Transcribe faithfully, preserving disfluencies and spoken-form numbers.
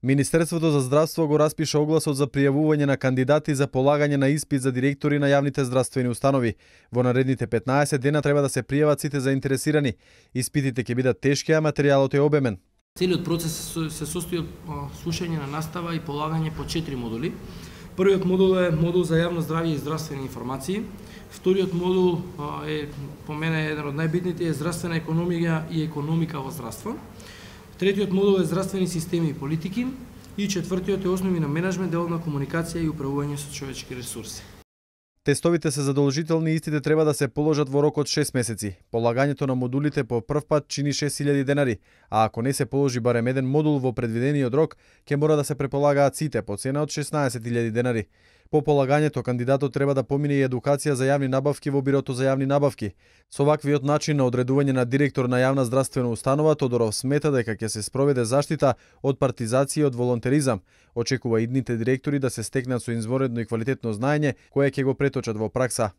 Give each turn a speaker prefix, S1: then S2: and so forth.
S1: Министерството за здравство го распиша огласот за пријавување на кандидати за полагање на испит за директори на јавните здравствени установи. Во наредните петнаесет дена треба да се пријават сите заинтересирани. Испитите ќе бидат тешки, а материјалот е обемен.
S2: Целиот процес се состои од слушање на настава и полагање по четири модули. Првиот модул е модул за јавно здравје и здравствени информации. Вториот модул е по мене еден од најбитните е здравствена економија и економика во здравство. Третиот модул е здравствени системи и политики и четвртиот е основи на менеджмент, деловна комуникација и управување со човечки ресурси.
S1: Тестовите се задолжителни и истите треба да се положат во рок од шест месеци. Полагањето на модулите по прв пат чини шест илјади денари, а ако не се положи барем еден модул во предвидениот рок, ќе мора да се преполагаат сите по цена од шеснаесет илјади денари. По полагањето кандидатот треба да помине и едукација за јавни набавки во Бирото за јавни набавки. Со ваквиот начин на одредување на директор на јавна здравствена установа, Тодоров смета дека ќе се спроведе заштита од партизација и од волонтеризам. Очекува идните директори да се стекнат со извонредно и квалитетно знаење кое ќе го преточат во пракса.